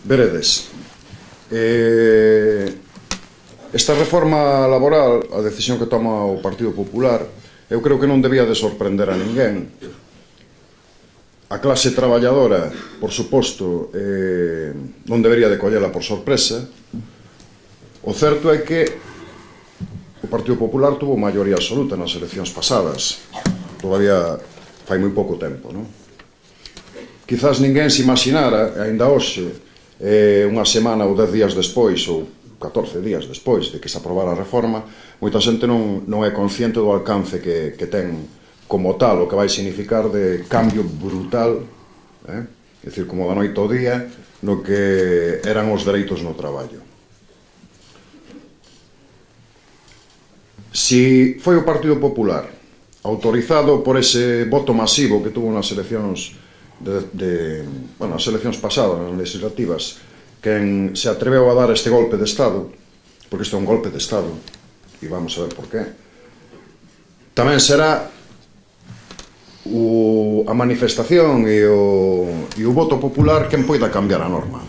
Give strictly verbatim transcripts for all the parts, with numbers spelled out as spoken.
Veredes, eh, esta reforma laboral, a decisión que toma o Partido Popular, eu creo que non debía de sorprender a ninguén. A clase traballadora, por suposto, eh, non debería de collela por sorpresa. O certo é que o Partido Popular tuvo maioría absoluta nas eleccións pasadas. Todavía fai moi pouco tempo, non? Quizás ninguén se imaginara, aínda hoxe, eh, unha semana ou dez días despois, ou catorce días despois de que se aprobara a reforma, moita xente non, non é consciente do alcance que, que ten como tal, o que vai significar de cambio brutal, eh? É dicir, como da noite ao día, no que eran os dereitos no traballo. Si foi o Partido Popular, autorizado por ese voto masivo que tuvo nas eleccións de, de, bueno, as eleccións pasadas, nas legislativas, quen se atreveu a dar este golpe de Estado, porque isto é un golpe de Estado, e vamos a ver por qué, tamén será o, a manifestación e o, e o voto popular quen poida cambiar a norma.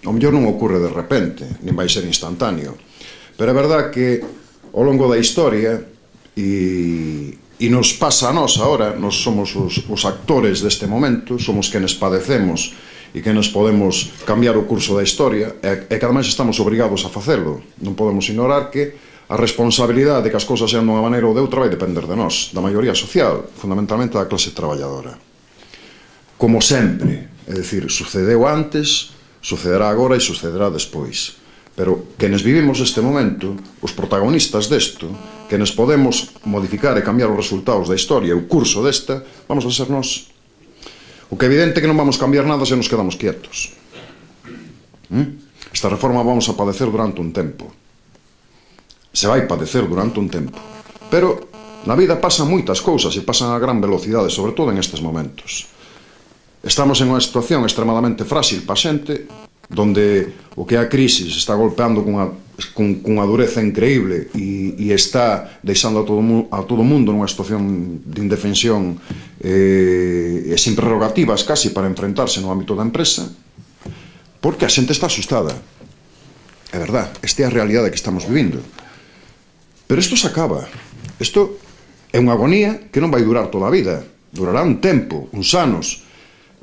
O mellor non ocorre de repente, nin vai ser instantáneo, pero é verdad que ao longo da historia, e, e nos pasa a nós agora, nos somos os, os actores deste momento, somos quenes padecemos e quenes podemos cambiar o curso da historia, e, e que ademais estamos obrigados a facelo. Non podemos ignorar que a responsabilidade de que as cousas sean dunha maneira ou de outra vai depender de nós, da maioría social, fundamentalmente da clase traballadora. Como sempre, é dicir, sucedeu antes, sucederá agora e sucederá despois. Pero quenes vivimos este momento, os protagonistas desto, quenes podemos modificar e cambiar os resultados da historia e o curso desta, vamos a ser nós. O que é evidente é que non vamos cambiar nada se nos quedamos quietos. Esta reforma vamos a padecer durante un tempo. Se vai padecer durante un tempo. Pero na vida pasan moitas cousas e pasan a gran velocidade, sobre todo en estes momentos. Estamos en unha situación extremadamente frágil pa xente, donde o que é a crise se está golpeando cunha, cun, cunha dureza increíble e, e está deixando a todo, a todo mundo nunha situación de indefensión eh, e sin prerrogativas casi para enfrentarse no ámbito da empresa, porque a xente está asustada. É verdad, esta é a realidade que estamos vivindo. Pero isto se acaba. Isto é unha agonía que non vai durar toda a vida. Durará un tempo, uns anos,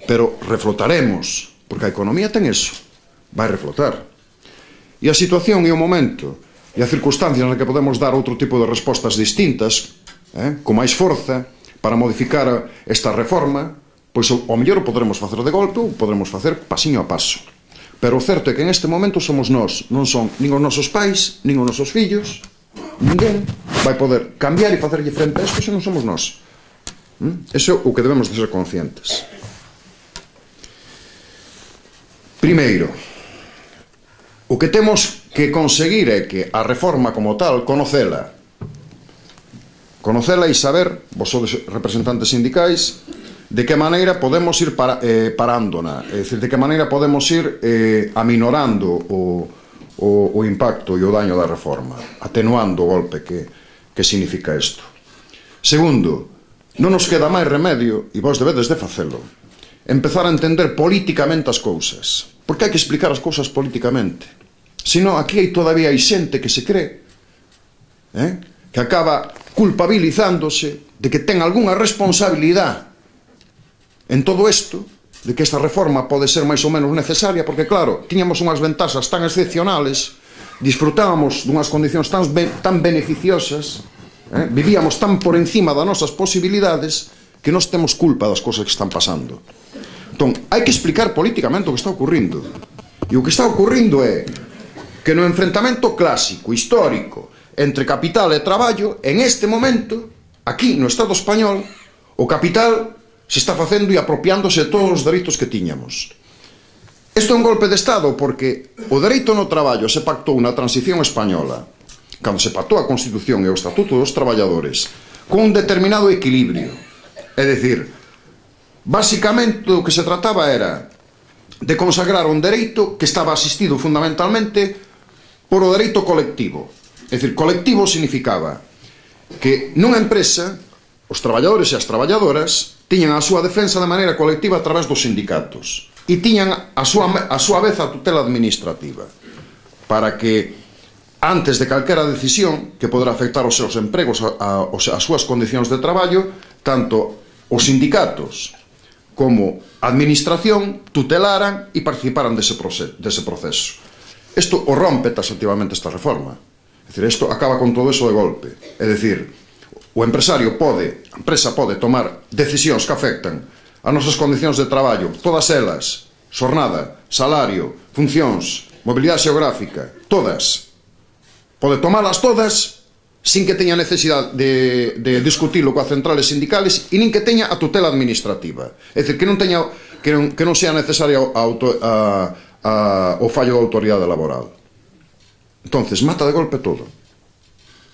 pero reflotaremos, porque a economía ten eso, vai reflotar. E a situación e o momento e a circunstancia na que podemos dar outro tipo de respostas distintas, eh, con máis forza, para modificar esta reforma, pois ao mellor o podremos facer de golpe ou podremos facer pasiño a paso. Pero o certo é que en este momento somos nós, non son nin os nosos pais, nin os nosos fillos, ninguén vai poder cambiar e facerlle frente a isto se non somos nós. Eso é o que debemos de ser conscientes. Primeiro, o que temos que conseguir é que a reforma como tal, conocela. Conocela e saber, vos sodes representantes sindicais, de que maneira podemos ir para, eh, parándona, é dicir, de que maneira podemos ir eh, aminorando o, o, o impacto e o daño da reforma, atenuando o golpe que, que significa isto. Segundo, non nos queda máis remedio, e vos debedes de facelo, empezar a entender políticamente as cousas, porque hai que explicar as cousas políticamente. Senón, aquí hai todavía hai xente que se cree, eh, que acaba culpabilizándose de que ten algunha responsabilidade en todo isto, de que esta reforma pode ser máis ou menos necesaria, porque claro, tiñamos unhas ventaxas tan excepcionales, disfrutábamos dunhas condicións tan, tan beneficiosas, eh, vivíamos tan por encima das nosas posibilidades, que nós temos culpa das cousas que están pasando. Entón, hai que explicar políticamente o que está ocurrindo. E o que está ocurrindo é que no enfrentamento clásico, histórico, entre capital e traballo, en este momento, aquí no Estado español, o capital se está facendo e apropiándose de todos os dereitos que tiñamos. Isto é un golpe de Estado porque o dereito no traballo se pactou na transición española, cando se pactou a Constitución e o Estatuto dos Traballadores, con un determinado equilibrio. É dicir, basicamente o que se trataba era de consagrar un dereito que estaba asistido fundamentalmente por o dereito colectivo. É dicir, colectivo significaba que nunha empresa os traballadores e as traballadoras tiñan a súa defensa de maneira colectiva a través dos sindicatos. e tiñan a súa, a súa vez a tutela administrativa para que antes de calquera decisión que poderá afectar os seus empregos, a, a, as súas condicións de traballo, tanto os sindicatos como a administración tutelaran e participaran dese proceso. Dese proceso. Isto o rompe taxativamente esta reforma. É dicir, isto acaba con todo eso de golpe. É dicir, o empresario pode, a empresa pode tomar decisións que afectan as nosas condicións de traballo, todas elas, xornada, salario, funcións, mobilidade xeográfica, todas. Pode tomalas todas sin que teña necesidade de, de discutilo coas centrales sindicales e nin que teña a tutela administrativa. É dicir, que non teña que non, que non sea necesaria a, a, a, o fallo da autoridade laboral. Entonces, mata de golpe todo.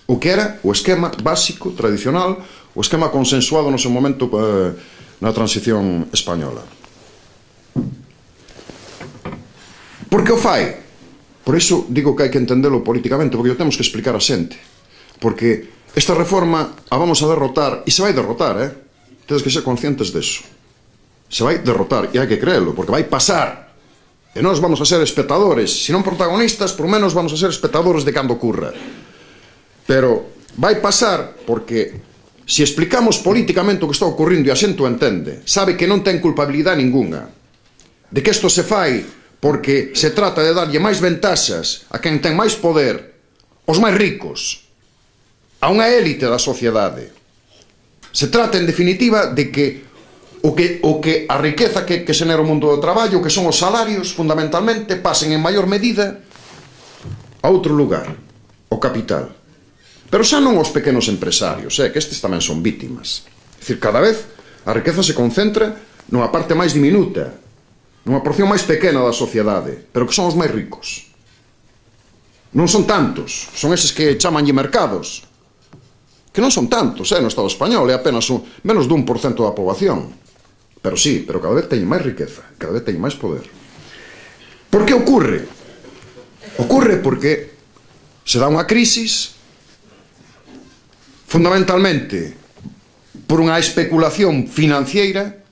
O que era o esquema básico, tradicional, o esquema consensuado no seu momento eh, na transición española. Por que o fai? Por iso digo que hai que entendelo políticamente, porque o temos que explicar a xente. Porque esta reforma a vamos a derrotar, e se vai derrotar, eh? Tedes que ser conscientes deso. Se vai derrotar, e hai que creelo, porque vai pasar. E nós vamos a ser espectadores, se non protagonistas, por menos vamos a ser espectadores de cando ocurra. Pero vai pasar porque se explicamos políticamente o que está ocurrindo e a xente o entende, sabe que non ten culpabilidade ninguna, de que isto se fai porque se trata de darlle máis ventaxas a quen ten máis poder, os máis ricos, a unha élite da sociedade. Se trata, en definitiva, de que o que, o que a riqueza que, que xenera o mundo do traballo, que son os salarios, fundamentalmente, pasen en maior medida a outro lugar, o capital. Pero xa non os pequenos empresarios, eh, que estes tamén son vítimas. É dicir, cada vez a riqueza se concentra nunha parte máis diminuta, nunha porción máis pequena da sociedade, pero que son os máis ricos. Non son tantos, son eses que chamanlle mercados, que non son tantos, eh, no Estado español, é apenas un, menos dun por cento da poboación. Pero sí, pero cada vez teñen máis riqueza, cada vez teñen máis poder. Por que ocurre? Ocurre porque se dá unha crisis, fundamentalmente por unha especulación financiera,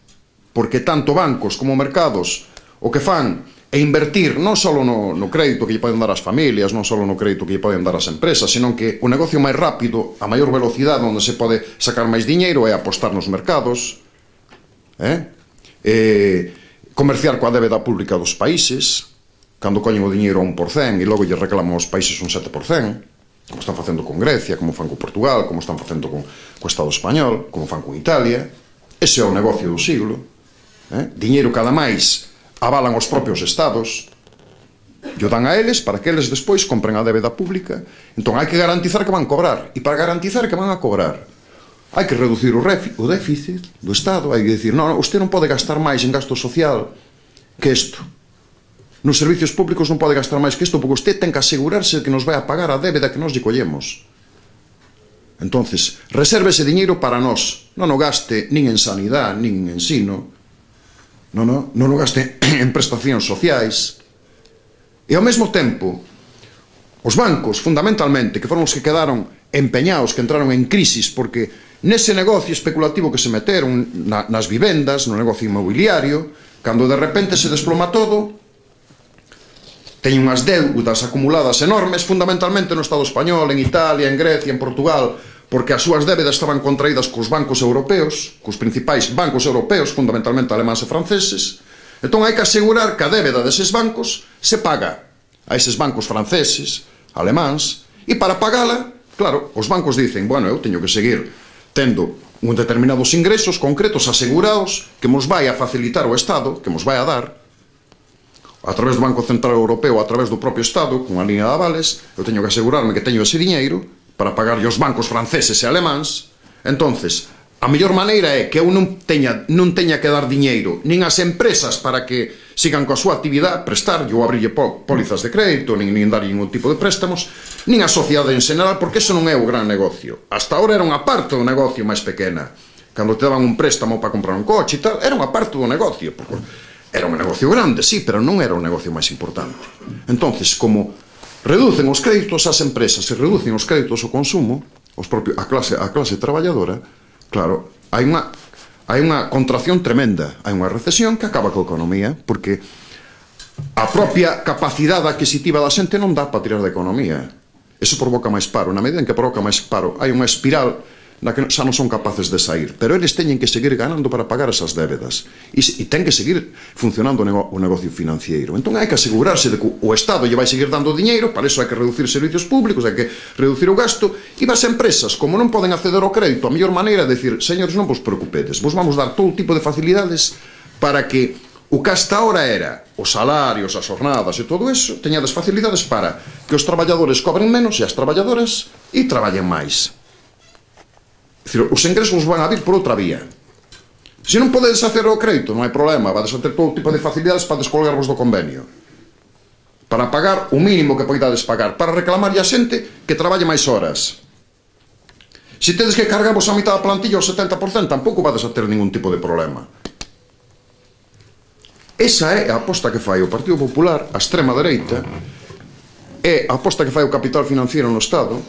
porque tanto bancos como mercados o que fan é invertir non só no, no crédito que lle poden dar as familias, non só no crédito que lle poden dar as empresas, senón que o negocio máis rápido, a maior velocidade onde se pode sacar máis diñeiro é apostar nos mercados, eh? Eh, comerciar coa débeda pública dos países, cando coñen o diñeiro a un por cento e logo lle reclaman aos países un sete por cento, como están facendo con Grecia, como fan con Portugal, como están facendo con o Estado español, como fan con Italia. Ese é o negocio do siglo. Eh? Diñeiro cada máis avalan os propios estados, e o dan a eles para que eles despois compren a débeda pública. Entón hai que garantizar que van cobrar, e para garantizar que van a cobrar hai que reducir o, o déficit do Estado, hai que dicir, non, usted non pode gastar máis en gasto social que isto, nos servicios públicos non pode gastar máis que isto, porque usted ten que asegurarse que nos vai a pagar a débeda que nos lle collemos. Entonces, reserve ese diñeiro para nós, non o gaste nin en sanidade, nin en ensino, non, non, non o gaste en prestacións sociais. E ao mesmo tempo, os bancos, fundamentalmente, que foron os que quedaron empeñados, que entraron en crisis, porque nese negocio especulativo que se meteron na, nas vivendas, no negocio inmobiliario, cando de repente se desploma todo, teñen unhas deudas acumuladas enormes, fundamentalmente no Estado español, en Italia, en Grecia, en Portugal, porque as súas débedas estaban contraídas cos bancos europeos, cos principais bancos europeos, fundamentalmente alemáns e franceses. Entón hai que asegurar que a débeda deses bancos se paga a eses bancos franceses, alemáns, e para pagala, claro, os bancos dicen, bueno, eu teño que seguir tendo un determinados ingresos concretos asegurados que mos vai a facilitar o Estado, que mos vai a dar, a través do Banco Central Europeo, a través do propio Estado, con a línea de avales, eu teño que asegurarme que teño ese diñeiro para pagarlle os bancos franceses e alemáns. Entonces, a mellor maneira é que eu non teña, non teña que dar diñeiro nin ás empresas para que sigan coa súa actividade, prestar, ou abrille pólizas de crédito, nin, nin dar ningún tipo de préstamos, nin a sociedade en general, porque eso non é o gran negocio. Hasta ahora era unha parte do negocio máis pequena. Cando te daban un préstamo para comprar un coche e tal, era unha parte do negocio, porque era un negocio grande, sí, pero non era o negocio máis importante. Entonces, como reducen os créditos ás empresas e reducen os créditos ao consumo, os propios, a, clase, a clase traballadora, claro, hai unha, hai unha contracción tremenda, hai unha recesión que acaba coa economía, porque a propia capacidade adquisitiva da xente non dá para tirar da economía. Eso provoca máis paro. Na medida en que provoca máis paro, hai unha espiral na que xa non son capaces de sair, pero eles teñen que seguir ganando para pagar esas débedas e, e ten que seguir funcionando o, nego, o negocio financiero. Entón hai que asegurarse de que o Estado lle vai seguir dando diñeiro, para eso hai que reducir servicios públicos, hai que reducir o gasto, e as empresas, como non poden acceder ao crédito, a mellor maneira de decir, señores, non vos preocupedes, vos vamos dar todo tipo de facilidades para que o que hasta ahora era os salarios, as jornadas e todo eso, teñades facilidades para que os traballadores cobren menos e as traballadoras e traballen máis. É dicir, os ingresos van a vir por outra vía. Se non podedes hacer o crédito, non hai problema, vades a ter todo tipo de facilidades para descolgarvos do convenio, para pagar o mínimo que poidades pagar, para reclamarlle a xente que traballe máis horas. Se tedes que cargarvos a mitad da plantilla ao setenta por cento, tampouco vades a ter ningún tipo de problema. Esa é a aposta que fai o Partido Popular, a extrema dereita, é a aposta que fai o capital financiero no Estado.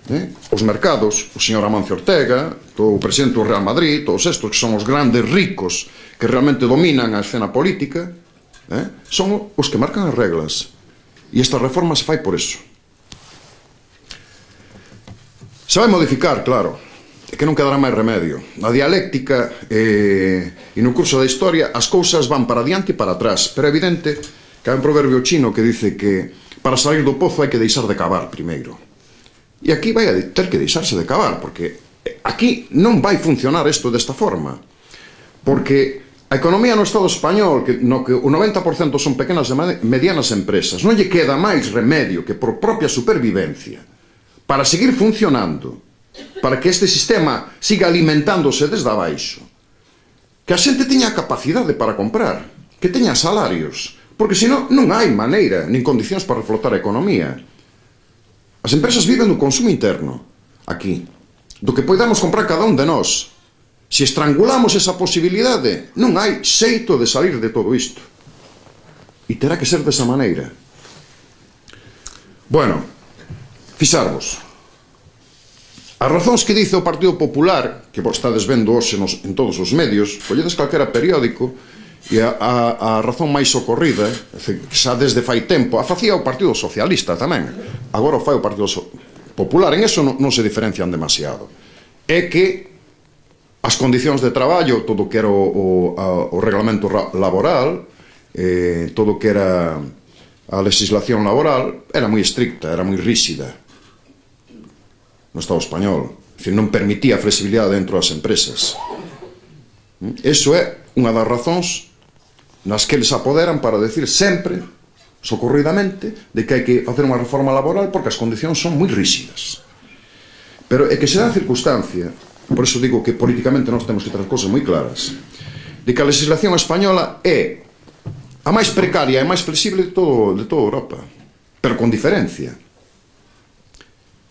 Eh? Os mercados, o señor Amancio Ortega, o presidente do Real Madrid, todos estos que son os grandes ricos que realmente dominan a escena política, eh? son os que marcan as reglas, e esta reforma se fai por eso. Se vai modificar, claro, é que non quedará máis remedio. Na dialéctica eh, e no curso da historia as cousas van para diante e para atrás, pero é evidente que hai un proverbio chino que dice que para salir do pozo hai que deixar de cavar primeiro. E aquí vai a ter que deixarse de cavar, porque aquí non vai funcionar isto desta forma, porque a economía no Estado español, que, no que o noventa por cento son pequenas e medianas empresas, non lle queda máis remedio que por propia supervivencia para seguir funcionando, para que este sistema siga alimentándose desde abaixo, que a xente teña capacidade para comprar, que teña salarios, porque senón non hai maneira nin condicións para reflotar a economía. As empresas viven do consumo interno, aquí, do que podamos comprar cada un de nós. Se estrangulamos esa posibilidade, non hai xeito de salir de todo isto. E terá que ser desa maneira. Bueno, fixarvos. As razóns que dice o Partido Popular, que vos estades vendo hoxe nos, en todos os medios, colledes calquera periódico, e a, a, a razón máis socorrida, xa desde fai tempo, a facía o Partido Socialista tamén, agora o fai o Partido so Popular, en eso non, non se diferencian demasiado, é que as condicións de traballo, todo o que era o, o, o reglamento laboral, eh, todo o que era a legislación laboral, era moi estricta, era moi rígida no Estado español, é dicir, non permitía flexibilidade dentro das empresas. Eso é unha das razóns nas que eles apoderan para decir sempre, socorridamente, de que hai que facer unha reforma laboral porque as condicións son moi rígidas. Pero é que se dá a circunstancia, por eso digo que políticamente nós temos que ter as cousas moi claras, de que a legislación española é a máis precaria e máis flexible de, todo, de toda Europa, pero con diferencia.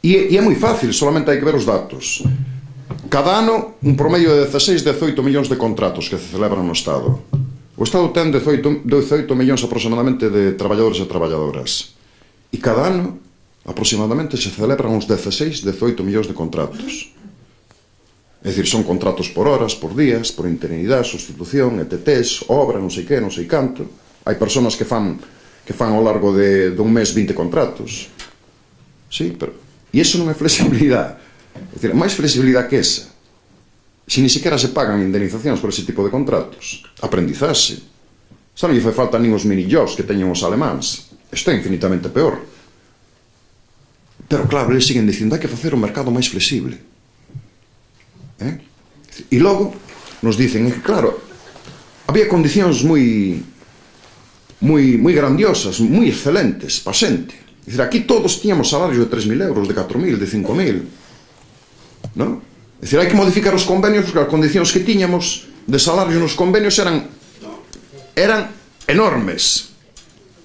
E, e é moi fácil, solamente hai que ver os datos. Cada ano, un promedio de dezaseis a dezoito millóns de contratos que se celebran no Estado. O Estado ten dezoito millóns aproximadamente de traballadores e traballadoras. E cada ano, aproximadamente, se celebran uns dezaseis a dezoito millóns de contratos. É dicir, son contratos por horas, por días, por interinidade, sustitución, E T Ts, obra, non sei que, non sei canto. Hai persoas que fan, que fan ao largo de, de un mes vinte contratos. Sí, pero... E iso non é flexibilidade. É dicir, máis flexibilidade que esa. Se ni sequera se pagan indemnizacións por ese tipo de contratos. Aprendizaxe. Xa non lle fai falta nin os mini-jobs que teñen os alemáns. Isto é infinitamente peor. Pero claro, eles siguen dicindo hai que facer o mercado máis flexible. Eh? E logo nos dicen que, claro, había condicións moi moi, moi grandiosas, moi excelentes para xente. É dicir, aquí todos tiñamos salarios de tres mil euros, de catro mil, de cinco mil. Non? É dicir, hai que modificar os convenios porque as condicións que tiñamos de salarios nos convenios eran eran enormes,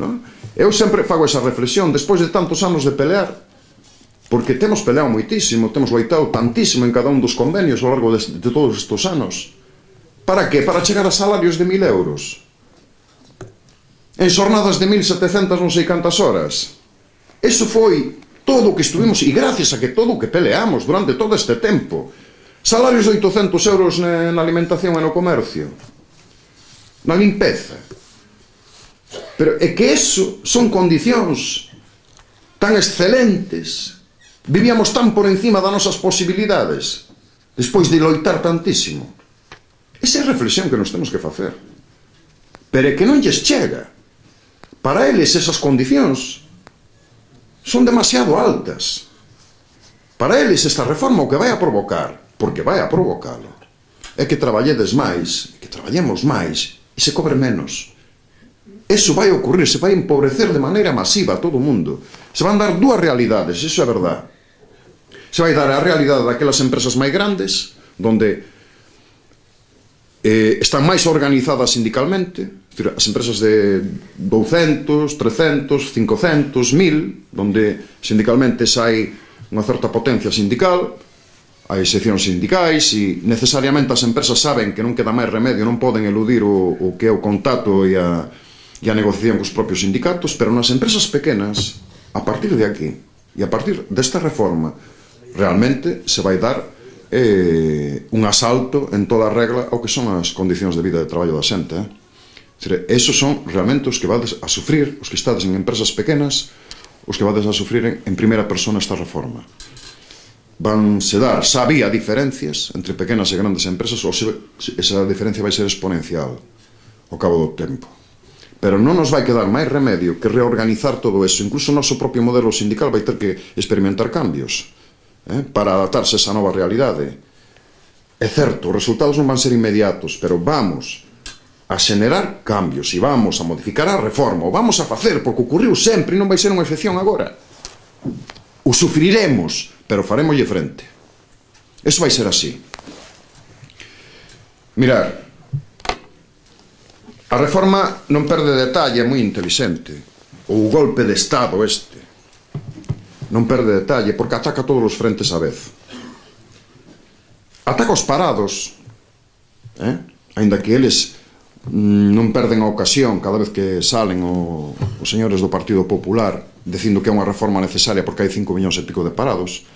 non? Eu sempre fago esa reflexión despois de tantos anos de pelear, porque temos peleado moitísimo, temos loitado tantísimo en cada un dos convenios ao largo de, de todos estes anos. Para que? Para chegar a salarios de mil euros en xornadas de mil setecentas non sei cantas horas. Eso foi todo o que estuvimos, e gracias a que todo o que peleamos durante todo este tempo, Salarios de oitocentos euros na, na alimentación e no comercio, na limpeza. Pero é que eso son condicións tan excelentes, vivíamos tan por encima das nosas posibilidades, despois de loitar tantísimo. Esa é a reflexión que nos temos que facer. Pero é que non lles chega. Para eles esas condicións son demasiado altas. Para eles esta reforma o que vai a provocar, porque vai a provocalo, é que traballedes máis, que traballemos máis e se cobre menos. Eso vai ocurrir, se vai empobrecer de maneira masiva a todo o mundo. Se van dar dúas realidades, iso é verdade. Se vai dar a realidade daquelas empresas máis grandes, donde eh, están máis organizadas sindicalmente, as empresas de douscentos, trescentos, cincocentos, mil, donde sindicalmente hai unha certa potencia sindical, hai seccións sindicais e necesariamente as empresas saben que non queda máis remedio, non poden eludir o, o que é o contacto e a, e a negociación cos propios sindicatos, pero nas empresas pequenas, a partir de aquí e a partir desta reforma, realmente se vai dar eh, un asalto en toda a regla ao que son as condicións de vida de traballo da xente. Eh? Dizer, esos son realmente os que vades a sufrir, os que estades en empresas pequenas, os que vades a sufrir en, en primeira persona esta reforma. Van se dar, xa había diferencias entre pequenas e grandes empresas, ou se, esa diferencia vai ser exponencial ao cabo do tempo. Pero non nos vai quedar máis remedio que reorganizar todo eso. Incluso o noso propio modelo sindical vai ter que experimentar cambios eh, para adaptarse a esa nova realidade. É certo, os resultados non van ser inmediatos, pero vamos a xenerar cambios e vamos a modificar a reforma, o vamos a facer, porque ocurriu sempre e non vai ser unha excepción agora. O sufriremos, pero farémoslle frente. Eso vai ser así. Mirar, a reforma non perde detalle, é moi inteligente. O golpe de Estado este non perde detalle, porque ataca todos os frentes á vez. Ataca os parados, eh? Ainda que eles non perden a ocasión cada vez que salen o, os señores do Partido Popular dicindo que é unha reforma necesaria porque hai cinco millóns e pico de parados,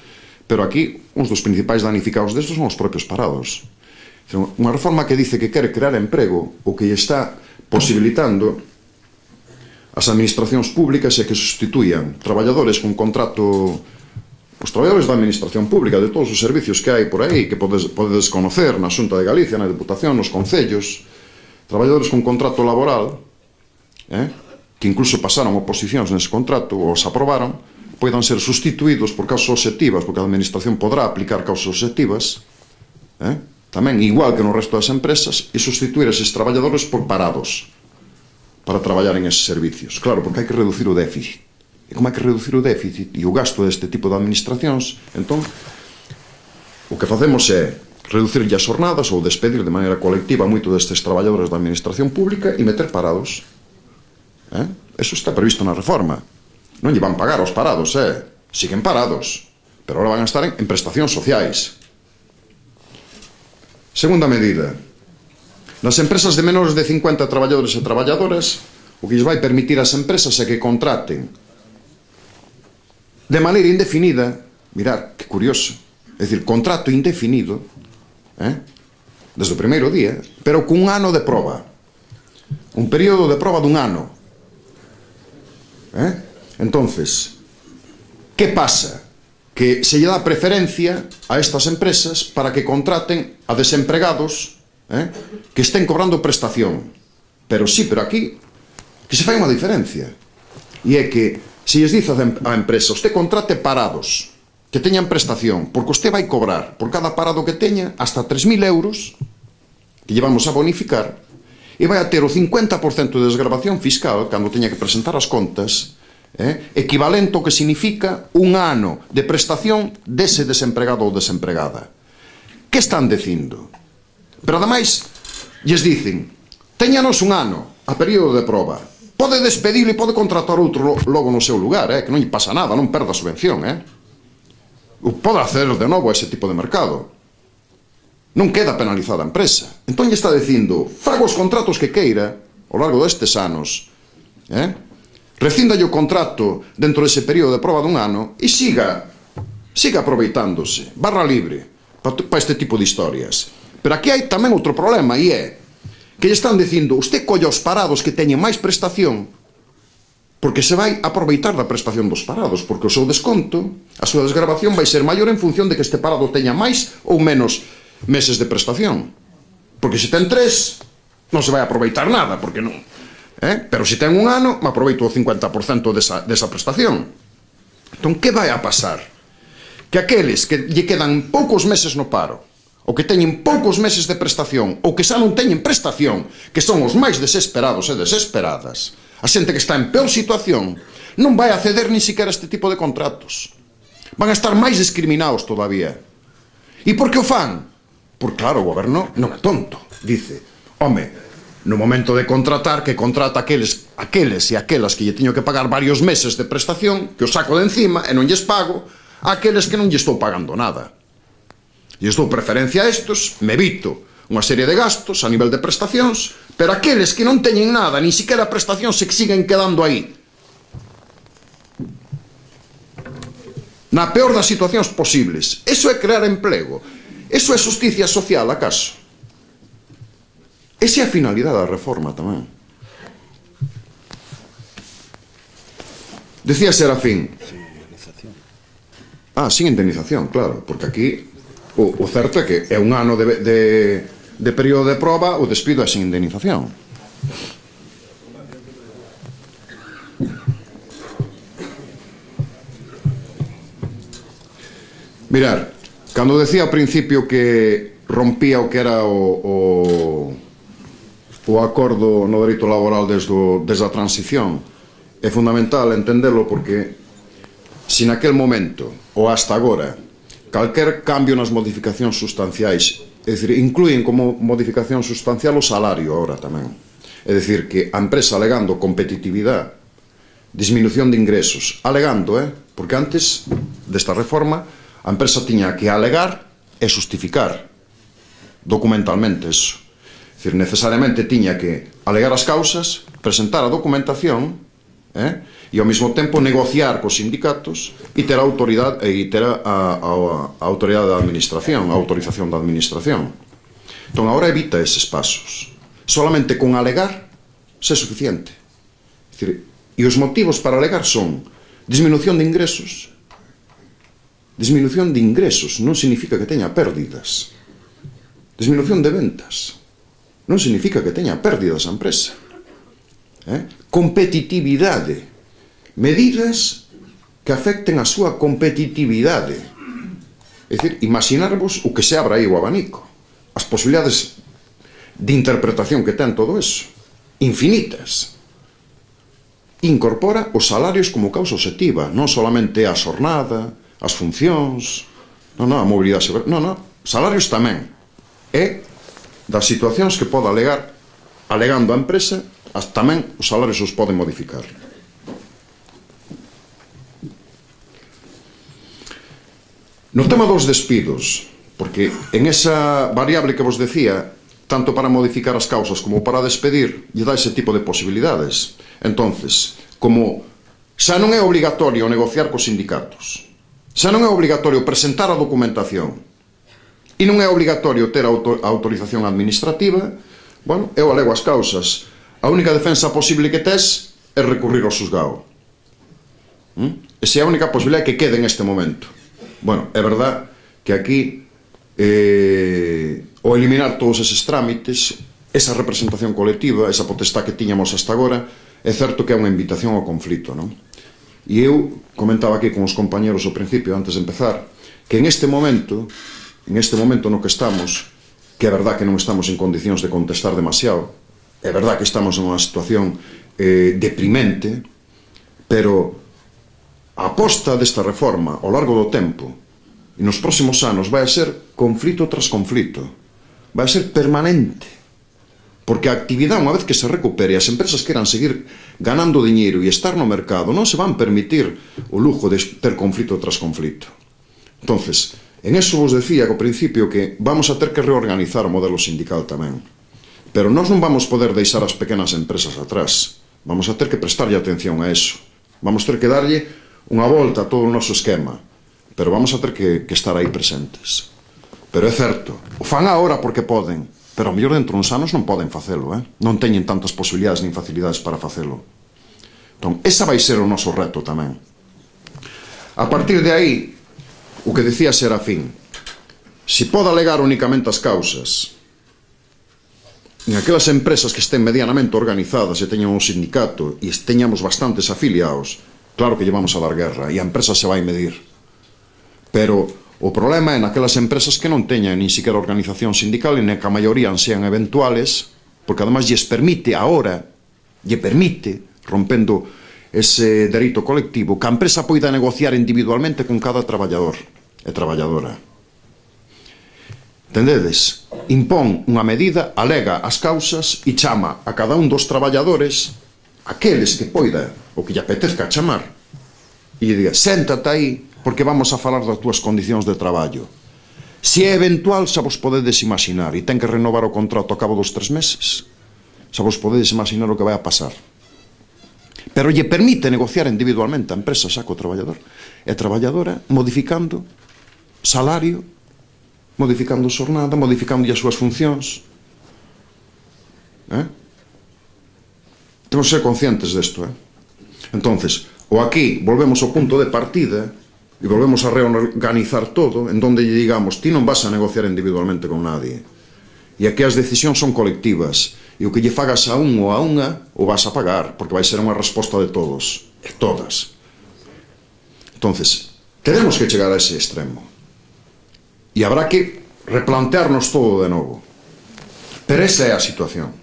pero aquí uns dos principais danificados destos son os propios parados. Unha reforma que dice que quere crear emprego, o que está posibilitando as administracións públicas é que sustituían traballadores con contrato, os traballadores da administración pública, de todos os servicios que hai por aí, que podes, podedes conocer na Xunta de Galicia, na Deputación, nos concellos, traballadores con contrato laboral, eh, que incluso pasaron oposicións nese contrato, ou os aprobaron, poidan ser sustituídos por causas obxectivas, porque a administración podrá aplicar causas obxectivas, eh, tamén igual que no resto das empresas, e sustituir eses traballadores por parados para traballar en eses servicios. Claro, porque hai que reducir o déficit. E como hai que reducir o déficit e o gasto deste tipo de administracións, entón, o que facemos é reducirlle as jornadas ou despedir de maneira colectiva moito destes traballadores da administración pública e meter parados. Eh? Eso está previsto na reforma. Non lle van pagar aos parados, eh? Siguen parados, pero agora van a estar en, en prestacións sociais. Segunda medida. Nas empresas de menores de cincuenta traballadores e traballadoras, o que lles vai permitir ás empresas é que contraten de maneira indefinida, mirad, que curioso, é dicir, contrato indefinido, eh? desde o primeiro día, pero con un ano de proba, un período de proba dun ano. Eh? Entonces, que pasa? Que se lle dá preferencia a estas empresas para que contraten a desempregados eh? que estén cobrando prestación. Pero sí, pero aquí que se fai unha diferencia, e é que se lles dice a empresa, usted contrate parados que teñan prestación, porque usted vai cobrar por cada parado que teña hasta tres mil euros que llevamos a bonificar, e vai a ter o cincuenta por cento de desgravación fiscal cando teña que presentar as contas, eh, equivalente ao que significa un ano de prestación dese desempregado ou desempregada. Que están dicindo? Pero ademais lles dicen, teñanos un ano a período de proba, pode despedir e pode contratar outro logo no seu lugar, eh, que non lle pasa nada, non perda a subvención, eh? Pode hacer de novo ese tipo de mercado. Non queda penalizada a empresa. Entón lle está dicindo, faga os contratos que queira ao largo destes anos, eh? Rescíndalle o contrato dentro dese período de proba dun ano e siga siga aproveitándose, barra libre. para este tipo de historias. Pero aquí hai tamén outro problema, e é que lle están dicindo, usted colla os parados que teñen máis prestación, porque se vai aproveitar da prestación dos parados, porque o seu desconto, a súa desgravación vai ser maior en función de que este parado teña máis ou menos meses de prestación. Porque se ten tres, non se vai aproveitar nada, porque non. Eh? Pero se ten un ano, me aproveito o cincuenta por cento desa, desa prestación. Entón, que vai a pasar? Que aqueles que lle quedan poucos meses no paro, ou que teñen poucos meses de prestación, ou que xa non teñen prestación, que son os máis desesperados e desesperadas, a xente que está en peor situación, non vai acceder ni siquiera a este tipo de contratos. Van a estar máis discriminados todavía. E por que o fan? Porque, claro, o goberno non é tonto. Dice, home, no momento de contratar, que contrata aqueles, aqueles e aquelas que lle teño que pagar varios meses de prestación, que o saco de encima e non lles pago, a aqueles que non lle estou pagando nada. E estou preferencia a estos, me evito unha serie de gastos a nivel de prestacións, pero aqueles que non teñen nada, ni siquiera prestacións, se siguen quedando aí. Na peor das situacións posibles. Eso é crear emprego. Eso é justicia social, acaso? Esa é a finalidade da reforma tamén. Decía Serafín. Sin indemnización. Ah, sin indemnización, claro, porque aquí o, o certo é que é un ano de, de, de período de proba, o despido é sin indemnización. Mirar, cando decía ao principio que rompía o que era o, o, o acordo no dereito laboral desde, o, desde a transición, é fundamental entendelo porque se naquel momento ou hasta agora calquer cambio nas modificacións sustanciais, é dicir, incluyen como modificación sustancial o salario agora tamén, é dicir, que a empresa alegando competitividade, disminución de ingresos, alegando, eh, porque antes desta reforma a empresa tiña que alegar e justificar documentalmente eso. É dicir, necesariamente tiña que alegar as causas, presentar a documentación, eh, e ao mesmo tempo negociar cos sindicatos e ter a autoridade e ter a, a, a autoridade da administración, a autorización da administración. Entón, agora evita eses pasos. Solamente con alegar se é suficiente. É dicir, e os motivos para alegar son disminución de ingresos. Disminución de ingresos non significa que teña pérdidas. Disminución de ventas non significa que teña pérdidas a empresa. Eh? Competitividade. Medidas que afecten a súa competitividade. É dicir, imaginarvos o que se abra aí o abanico. As posibilidades de interpretación que ten todo eso. Infinitas. Incorpora os salarios como causa obxectiva, non solamente a xornada, as funcións, non, non, a mobilidade, non, non, salarios tamén. E das situacións que poda alegar, alegando a empresa, tamén os salarios os poden modificar. No tema dos despidos, porque en esa variable que vos decía, tanto para modificar as causas como para despedir, lle dá ese tipo de posibilidades. Entonces, como xa non é obligatorio negociar cos sindicatos, xa non é obligatorio presentar a documentación e non é obligatorio ter a autorización administrativa, bueno, eu alego as causas. A única defensa posible que tes é recurrir ao xuzgado. Esa é a única posibilidade que quede en este momento. Bueno, é verdad que aquí eh, o eliminar todos eses trámites, esa representación colectiva, esa potestad que tiñamos hasta agora, é certo que é unha invitación ao conflito, non? E eu comentaba aquí con os compañeros ao principio, antes de empezar, que en este momento, en este momento no que estamos, que é verdad que non estamos en condicións de contestar demasiado, é verdad que estamos en unha situación eh, deprimente, pero a aposta desta reforma ao largo do tempo e nos próximos anos vai a ser conflito tras conflito, vai a ser permanente, porque a actividade, unha vez que se recupere e as empresas queran seguir ganando diñeiro e estar no mercado, non se van permitir o lujo de ter conflito tras conflito. Entonces, en eso vos decía ao principio que vamos a ter que reorganizar o modelo sindical tamén, pero nós non vamos poder deixar as pequenas empresas atrás, vamos a ter que prestarlle atención a eso, vamos ter que darlle unha volta a todo o noso esquema, pero vamos a ter que, que estar aí presentes. Pero é certo, o fan agora porque poden, pero ao mellor dentro uns anos non poden facelo, eh? Non teñen tantas posibilidades nin facilidades para facelo. Entón, esa vai ser o noso reto tamén. A partir de aí, o que decía Serafín, se pode alegar únicamente as causas en aquelas empresas que estén medianamente organizadas e teñan un sindicato e teñamos bastantes afiliados, claro que llevamos a dar guerra e a empresa se vai medir. Pero o problema é naquelas empresas que non teñan nin siquiera organización sindical e que a maioría sean eventuales, porque además lles permite ahora, lle permite, rompendo ese dereito colectivo, que a empresa poida negociar individualmente con cada traballador e traballadora. Entendedes? Impón unha medida, alega as causas e chama a cada un dos traballadores, aqueles que poida, o que lle apetezca chamar, e lle diga, séntate aí, porque vamos a falar das túas condicións de traballo. Se é eventual, xa vos podedes imaginar, e ten que renovar o contrato a cabo dos tres meses, xa vos podedes imaginar o que vai a pasar. Pero lle permite negociar individualmente a empresa xa co traballador e a traballadora, modificando salario, modificando xornada, modificando as súas funcións. Eh? Temos que ser conscientes desto. Eh? Entonces, o aquí volvemos ao punto de partida e volvemos a reorganizar todo, en donde lle digamos, ti non vas a negociar individualmente con nadie. E aquí as decisións son colectivas. E o que lle fagas a un ou a unha, o vas a pagar, porque vai ser unha resposta de todos, de todas. Entonces, tenemos que chegar a ese extremo. E habrá que replantearnos todo de novo. Pero esa é a situación.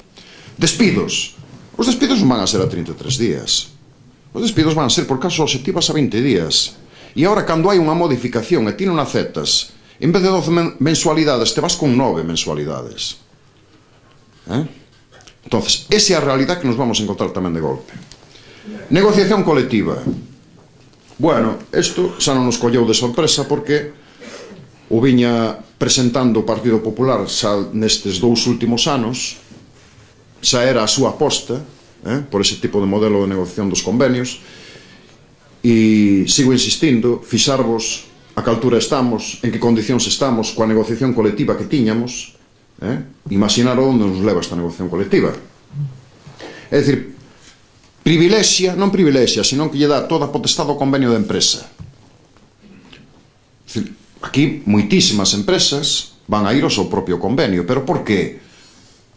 Despidos. Os despidos non van a ser a trinta e tres días. Os despidos van a ser por casos obxectivas a vinte días. E agora, cando hai unha modificación e ti non aceptas, en vez de doce mensualidades, te vas con nove mensualidades. Eh? Entonces, esa é a realidade que nos vamos a encontrar tamén de golpe. Negociación colectiva. Bueno, isto xa non nos colleu de sorpresa porque o viña presentando o Partido Popular xa nestes dous últimos anos, xa era a súa aposta, eh, por ese tipo de modelo de negociación dos convenios, e sigo insistindo, fixarvos a que altura estamos, en que condicións estamos coa negociación colectiva que tiñamos, eh, imaginar onde nos leva esta negociación colectiva. É dicir, privilexia, non privilexia, senón que lle dá toda a potestade ao convenio de empresa. É dicir, aquí moitísimas empresas van a ir ao seu propio convenio, pero por qué?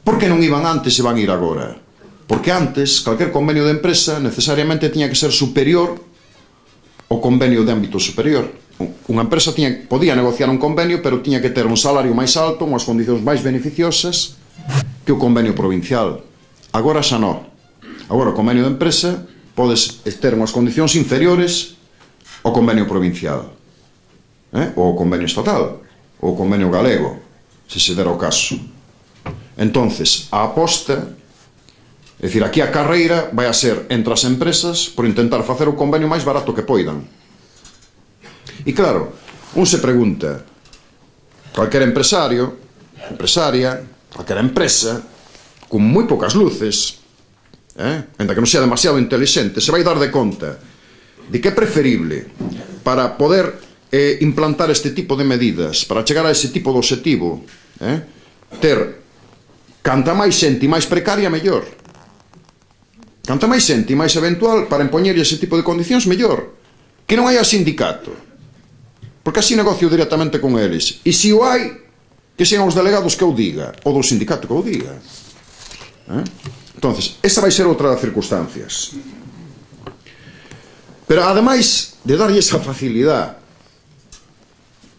Por que non iban antes e van a ir agora? Porque antes, calquer convenio de empresa necesariamente tiña que ser superior ao convenio de ámbito superior. Unha empresa tiña, podía negociar un convenio, pero tiña que ter un salario máis alto, unhas condicións máis beneficiosas que o convenio provincial. Agora xa non. Agora o convenio de empresa podes ter unhas condicións inferiores ao convenio provincial, eh? ou ao convenio estatal, ou ao convenio galego, se se dera o caso. Entonces, a aposta, é dicir, aquí a carreira vai a ser entre as empresas por intentar facer o convenio máis barato que poidan. E claro, un se pregunta, calquer empresario, empresaria, calquer empresa, con moi poucas luces, eh, ainda que non sea demasiado inteligente, se vai dar de conta de que é preferible para poder eh, implantar este tipo de medidas, para chegar a ese tipo de objetivo, eh, ter canta máis xente e máis precaria, mellor. Canta máis xente e máis eventual para empoñer ese tipo de condicións, mellor. Que non haya sindicato, porque así negocio directamente con eles. E se o hai, que sean os delegados que o diga, ou do sindicato que o diga. Eh? Entonces, esa vai ser outra das circunstancias. Pero, ademais de darlle esa facilidade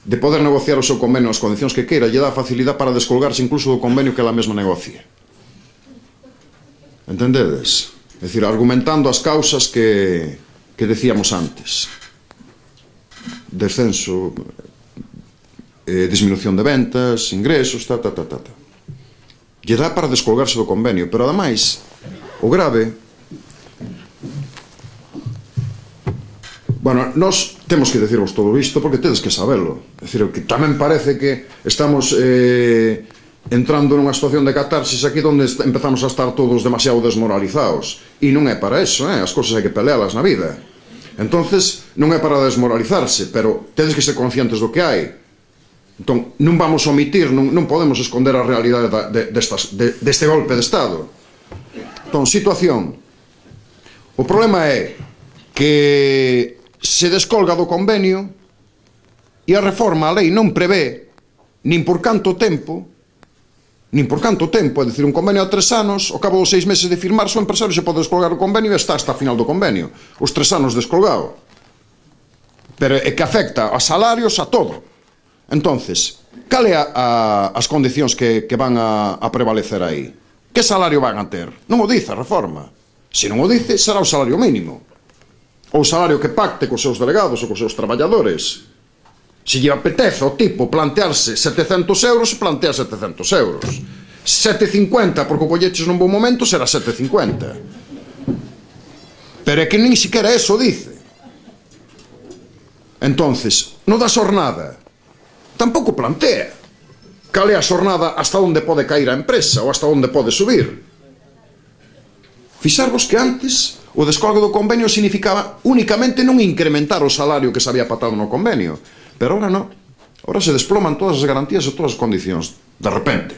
de poder negociar o seu convenio nas condicións que queira, lle dá facilidade para descolgarse incluso do convenio que ela mesma negocie. Entendedes? É dicir, argumentando as causas que, que decíamos antes. Descenso, eh, disminución de ventas, ingresos, ta, ta, ta, ta, ta. Lle dá para descolgarse do convenio, pero ademais, o grave... Bueno, nós temos que decirvos todo isto porque tedes que sabelo. É dicir, que tamén parece que estamos eh, entrando nunha situación de catarsis aquí onde empezamos a estar todos demasiado desmoralizados. E non é para eso, eh? As cousas hai que pelealas na vida. Entonces, non é para desmoralizarse, pero tedes que ser conscientes do que hai. Entón, non vamos omitir, non, non podemos esconder a realidade da, de, destas, de, deste golpe de Estado. Entón, situación. O problema é que se descolga do convenio e a reforma, a lei, non prevé nin por canto tempo, nin por canto tempo, é dicir, un convenio a tres anos, ao cabo dos seis meses de firmar, o empresario se pode descolgar o convenio e está hasta a final do convenio. Os tres anos descolgado. Pero é que afecta a salarios, a todo. Entonces, cal é a, a, as condicións que, que van a, a prevalecer aí? Que salario van a ter? Non o dice a reforma. Se non o dice, será o salario mínimo. Ou o salario que pacte cos seus delegados ou cos seus traballadores. Se lle apetece ao tipo plantearse setecentos euros, se plantea setecentos euros. sete cincuenta, porque o colleches nun bon momento, será sete cincuenta. Pero é que nin siquiera eso dice. Entonces, no da xornada, tampouco plantea cal é a xornada hasta onde pode cair a empresa ou hasta onde pode subir. Fixarvos que antes o descolgo do convenio significaba únicamente non incrementar o salario que se había patado no convenio, pero ahora non. Ahora se desploman todas as garantías e todas as condicións de repente.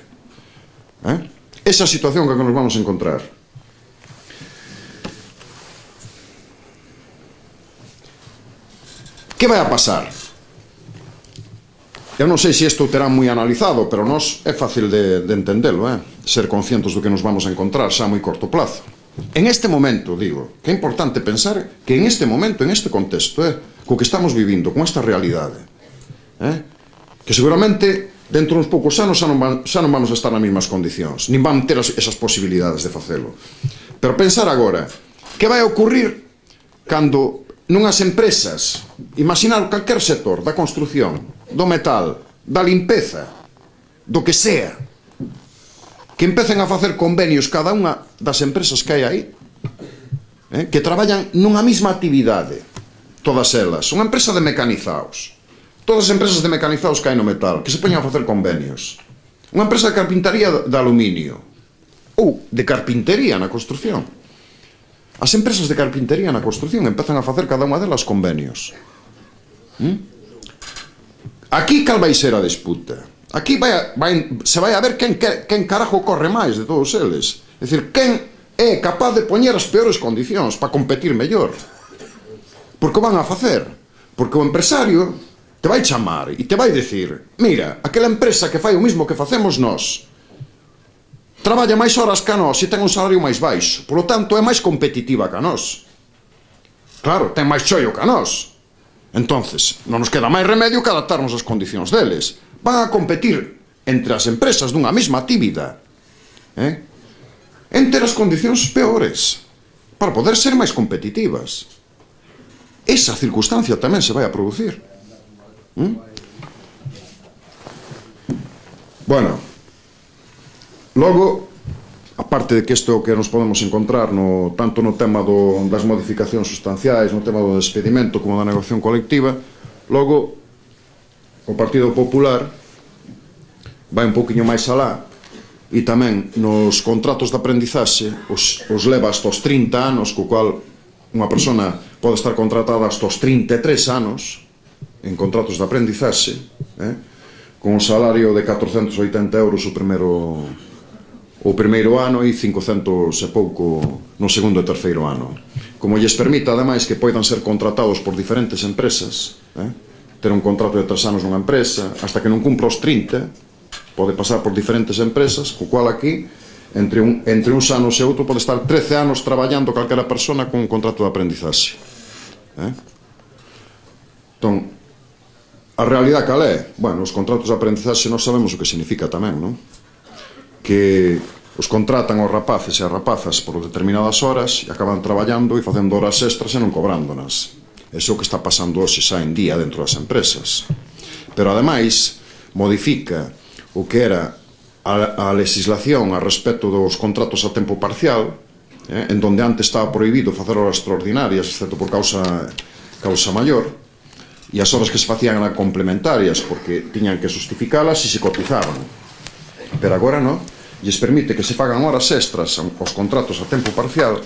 ¿Eh? Esa situación que nos vamos a encontrar. Que vai a pasar? Eu non sei se isto terá moi analizado, pero nos é fácil de, de entendelo, eh? Ser conscientes do que nos vamos a encontrar xa a moi corto plazo. En este momento, digo, que é importante pensar que en este momento, en este contexto, eh, co que estamos vivindo, con esta realidade, eh, que seguramente dentro de uns poucos anos xa non, van, xa non vamos a estar nas mesmas condicións, nin van ter as, esas posibilidades de facelo. Pero pensar agora, que vai a ocurrir cando nunhas empresas, imaginar calquer sector, da construción, do metal, da limpeza, do que sea, que empecen a facer convenios cada unha das empresas que hai aí, eh, que traballan nunha mesma actividade, todas elas, unha empresa de mecanizados, todas as empresas de mecanizados que hai no metal, que se poñan a facer convenios, unha empresa de carpintaría de aluminio, ou de carpintería na construción. As empresas de carpintería na construción empezan a facer cada unha delas convenios. ¿Mm? Aquí cal vai ser a disputa? Aquí vai a, vai, se vai a ver quen, quen carajo corre máis de todos eles. É dicir, quen é capaz de poñer as peores condicións para competir mellor. Porque o van a facer. Porque o empresario te vai chamar e te vai dicir: mira, aquela empresa que fai o mismo que facemos nós traballa máis horas que a nós e ten un salario máis baixo, polo tanto é máis competitiva que a nós. Claro, ten máis chollo que a nós. Entonces, non nos queda máis remedio que adaptarnos ás condicións deles. Van a competir entre as empresas dunha mesma actividade, eh? entre as condicións peores, para poder ser máis competitivas. Esa circunstancia tamén se vai a producir. ¿Mm? Bueno, logo, aparte de que isto que nos podemos encontrar no, tanto no tema do, das modificacións sustanciais, no tema do despedimento como da negociación colectiva, logo o Partido Popular vai un pouquiño máis alá e tamén nos contratos de aprendizaxe os, os leva hasta os trinta anos, co cual unha persona pode estar contratada hasta os trinta e tres anos en contratos de aprendizaxe, eh, con un salario de catrocentos e oitenta euros o primeiro o primeiro ano e cincocentos e pouco no segundo e terceiro ano, como lles permite ademais que poidan ser contratados por diferentes empresas, eh? ter un contrato de tres anos nunha empresa hasta que non cumpra os trinta, pode pasar por diferentes empresas, co cual aquí entre, un, entre uns anos e outro pode estar trece anos traballando calquera persona con un contrato de aprendizaxe, eh? Entón, a realidade cal é? Bueno, os contratos de aprendizaxe nós sabemos o que significa tamén, non? Que os contratan aos rapaces e as rapazas por determinadas horas e acaban traballando e facendo horas extras e non cobrándonas. Eso é o que está pasando hoxe xa en día dentro das empresas. Pero ademais modifica o que era a, a legislación a respecto dos contratos a tempo parcial, eh, en donde antes estaba prohibido facer horas extraordinarias excepto por causa, causa maior, e as horas que se facían eran complementarias porque tiñan que justificalas e se cotizaban. Pero agora non, lles permite que se fagan horas extras aos contratos a tempo parcial,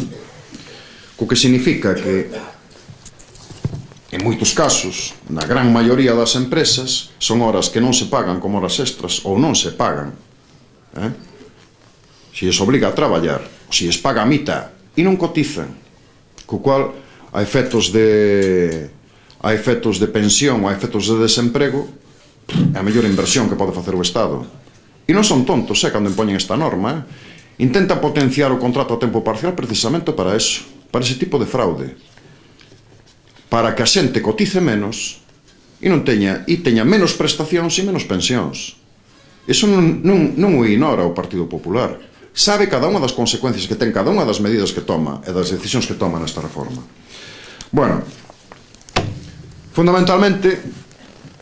co que significa que en en moitos casos, na gran maioría das empresas, son horas que non se pagan como horas extras ou non se pagan. Eh? Se es obliga a traballar, ou se es paga a mitad e non cotizan, co cual a efectos de a efectos de pensión, a efectos de desemprego, é a mellor inversión que pode facer o Estado. E non son tontos, eh, cando impoñen esta norma, eh? Intenta potenciar o contrato a tempo parcial precisamente para eso, para ese tipo de fraude, para que a xente cotice menos e non teña e teña menos prestacións e menos pensións. Iso non, non, non o ignora o Partido Popular. Sabe cada unha das consecuencias que ten cada unha das medidas que toma e das decisións que toma nesta reforma. Bueno, fundamentalmente,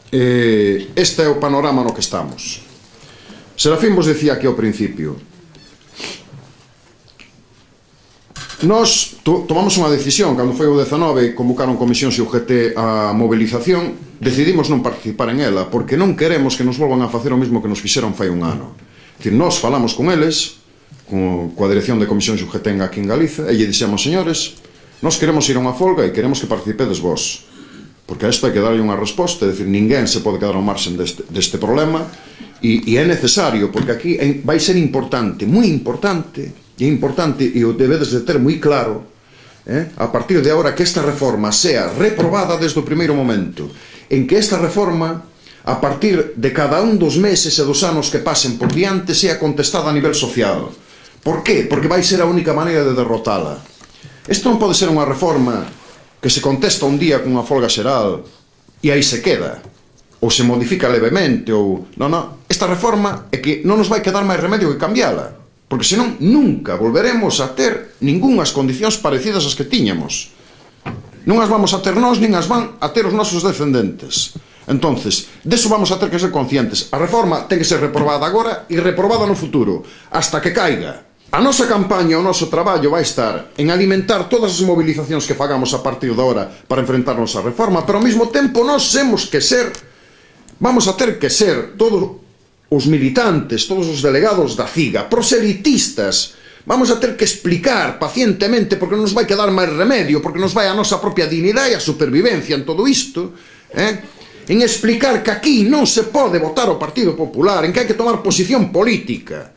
eh, este é o panorama no que estamos. Serafín vos decía aquí ao principio, nós to tomamos unha decisión, cando foi o dezanove, convocaron comisións e o G T a movilización, decidimos non participar en ela, porque non queremos que nos volvan a facer o mesmo que nos fixeron fai un ano. É dicir, nós falamos con eles, con, coa dirección de comisións e o G T aquí en Galiza, e lle dixemos, señores, nós queremos ir a unha folga e queremos que participedes vos, porque a isto hai que darlle unha resposta, é dicir, ninguén se pode quedar ao marxen deste, deste problema, e, e é necesario, porque aquí vai ser importante, moi importante, e é importante, e o debedes de ter moi claro, eh, a partir de agora, que esta reforma sea reprobada desde o primeiro momento, en que esta reforma, a partir de cada un dos meses e dos anos que pasen por diante, sea contestada a nivel social. Por qué? Porque vai ser a única maneira de derrotala. Isto non pode ser unha reforma que se contesta un día con unha folga xeral e aí se queda, ou se modifica levemente, ou... Non, non, esta reforma é que non nos vai quedar máis remedio que cambiala, porque senón nunca volveremos a ter ningunhas condicións parecidas ás que tiñamos. Non as vamos a ter nós, nin as van a ter os nosos descendentes. Entonces, deso vamos a ter que ser conscientes. A reforma ten que ser reprobada agora e reprobada no futuro, hasta que caiga. A nosa campaña, o noso traballo vai estar en alimentar todas as movilizacións que fagamos a partir de ahora para enfrentarnos á reforma, pero ao mesmo tempo nós temos que ser, vamos a ter que ser todos os militantes, todos os delegados da CIGA, proselitistas, vamos a ter que explicar pacientemente, porque non nos vai quedar máis remedio, porque nos vai a nosa propia dignidade e a supervivencia en todo isto, eh? En explicar que aquí non se pode votar o Partido Popular, en que hai que tomar posición política,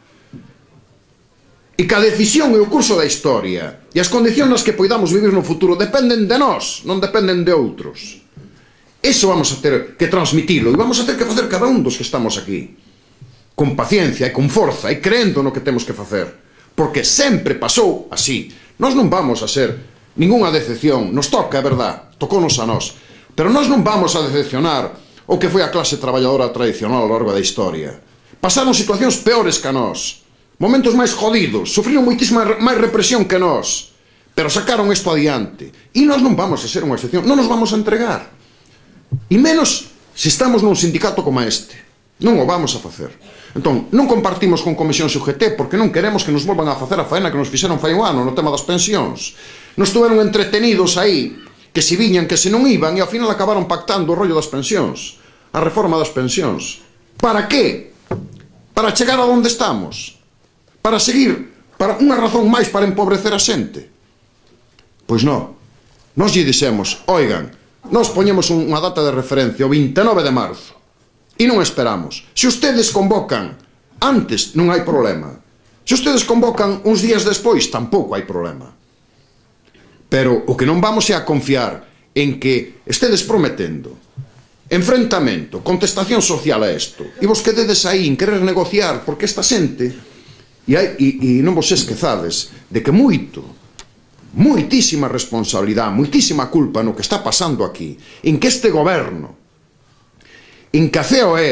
e que a decisión e o curso da historia e as condicións nas que poidamos vivir no futuro dependen de nós, non dependen de outros. Iso vamos a ter que transmitilo, e vamos a ter que facer cada un dos que estamos aquí, con paciencia e con forza e creendo no que temos que facer, porque sempre pasou así. Nós non vamos a ser ningunha decepción, nos toca, é verdad, tocounos a nós, pero nós non vamos a decepcionar o que foi a clase traballadora tradicional ao largo da historia. Pasaron situacións peores que a nós, momentos máis jodidos, sufriron moitísima máis represión que nós, pero sacaron isto adiante, e nós non vamos a ser unha excepción, non nos vamos a entregar, e menos se estamos nun sindicato como este, non o vamos a facer. Entón, non compartimos con comisións e U G T porque non queremos que nos volvan a facer a faena que nos fixeron fai un ano no tema das pensións. Nos estuveron entretenidos aí, que se viñan, que se non iban, e ao final acabaron pactando o rollo das pensións, a reforma das pensións. Para que? Para chegar a onde estamos? Para seguir? Para unha razón máis para empobrecer a xente? Pois non. Nos lle dixemos, oigan, nos poñemos unha data de referencia, o vinte e nove de marzo, e non esperamos. Se ustedes convocan antes, non hai problema. Se ustedes convocan uns días despois, tampouco hai problema. Pero o que non vamos é a confiar en que estedes prometendo enfrentamento, contestación social a isto, e vos quededes aí en querer negociar, porque esta xente, e, hai, e, e non vos esquezades de que moito, moitísima responsabilidade, moitísima culpa no que está pasando aquí, en que este goberno, en que a C E O E,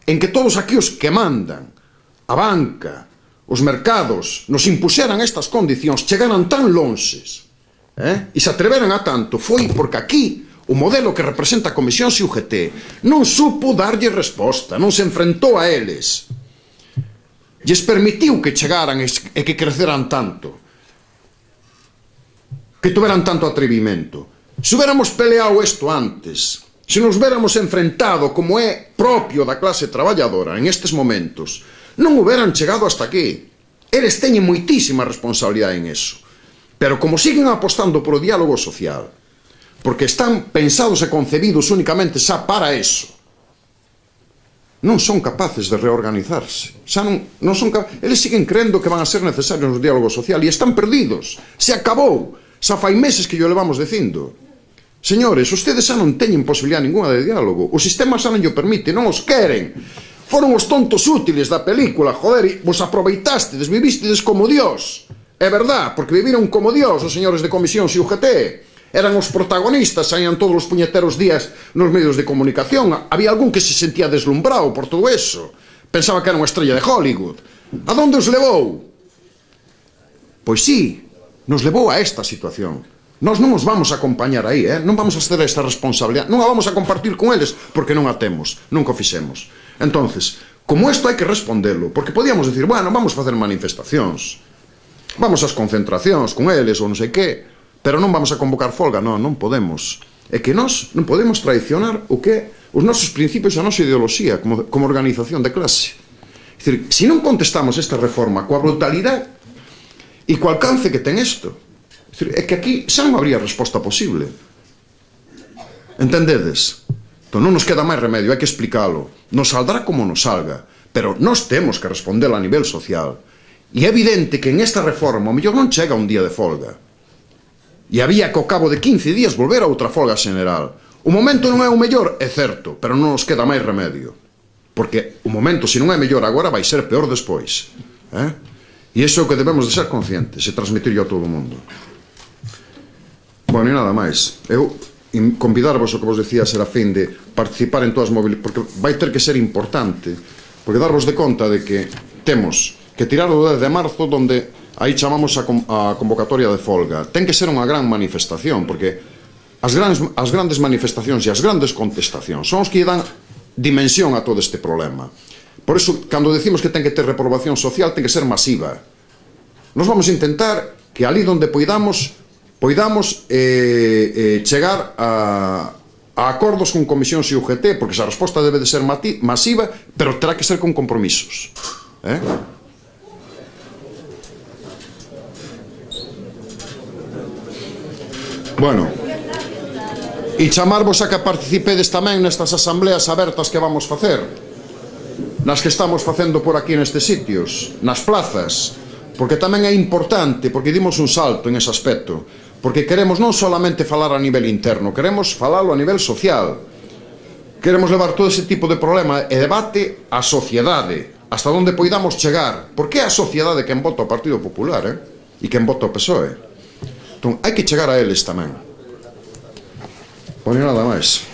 en que todos aquí os que mandan, a banca, os mercados, nos impuxeran estas condicións, chegaran tan lonxes, eh? E se atreveran a tanto, foi porque aquí o modelo que representa a Comisión e U G T non supo darlle resposta, non se enfrentou a eles, lles permitiu que chegaran e que creceran tanto, que tuveran tanto atrevimento. Se hubiéramos peleado isto antes, se nos hubiéramos enfrentado como é propio da clase traballadora en estes momentos, non hubieran chegado hasta aquí. Eles teñen moitísima responsabilidade en eso, pero como siguen apostando polo diálogo social, porque están pensados e concebidos únicamente xa para eso. Non son capaces de reorganizarse. Xa non, non son capaces. Eles siguen crendo que van a ser necesarios no diálogo social e están perdidos. Se acabou. Xa fai meses que yo levamos dicindo. Señores, ustedes xa non teñen posibilidad ninguna de diálogo. O sistema xa non llo permite, non os queren. Foron os tontos útiles da película, joder, e vos aproveitastes, vivistedes como Dios. É verdad, porque viviron como Dios os señores de Comisión X U G T. Eran os protagonistas, saían todos os puñeteros días nos medios de comunicación. Había algún que se sentía deslumbrado por todo eso. Pensaba que era unha estrella de Hollywood. A donde os levou? Pois sí, nos levou a esta situación. Nós non os vamos a acompañar aí, eh? Non vamos a ceder esta responsabilidade. Non a vamos a compartir con eles porque non a temos, nunca o fixemos. Entonces, como isto hai que respondelo, porque podíamos decir, bueno, vamos facer manifestacións, vamos ás concentracións con eles ou non sei que, pero non vamos a convocar folga, non, non podemos. É que nós non podemos traicionar o que os nosos principios e a nosa ideoloxía como, como organización de clase. É dicir, se non contestamos esta reforma coa brutalidade e co alcance que ten isto, é, dicir, é que aquí xa non habría resposta posible. Entendedes? Entón non nos queda máis remedio, hai que explicalo. Nos saldrá como nos salga, pero nós temos que responder a nivel social. E é evidente que en esta reforma o mellor non chega un día de folga. E había que ao cabo de quince días volver a outra folga general. O momento non é o mellor, é certo, pero non nos queda máis remedio. Porque o momento, se non é mellor agora, vai ser peor despois. Eh? E iso é o que debemos de ser conscientes e transmitirlo a todo o mundo. Bueno, e nada máis. Eu convidarvos, o que vos decía, Serafín, de participar en todas as movilizacións, porque vai ter que ser importante, porque darvos de conta de que temos que tirar o dez de marzo, donde aí chamamos a, a convocatoria de folga. Ten que ser unha gran manifestación, porque as grandes, as grandes manifestacións e as grandes contestacións son os que dan dimensión a todo este problema. Por iso, cando decimos que ten que ter reprobación social, ten que ser masiva. Nos vamos a intentar que ali donde poidamos, poidamos eh, eh, chegar a, a acordos con Comisión X U G T, porque esa resposta debe de ser masiva, pero terá que ser con compromisos. Eh? Bueno, e chamarvos a que participedes tamén nestas asambleas abertas que vamos facer, nas que estamos facendo por aquí nestes sitios, nas plazas, porque tamén é importante, porque dimos un salto en ese aspecto, porque queremos non solamente falar a nivel interno, queremos falalo a nivel social, queremos levar todo ese tipo de problema e debate á sociedade, hasta onde poidamos chegar, porque é a sociedade quen vota o Partido Popular, eh? E quen vota o P S O E. Entón, hai que chegar a eles tamén. Pois nada máis.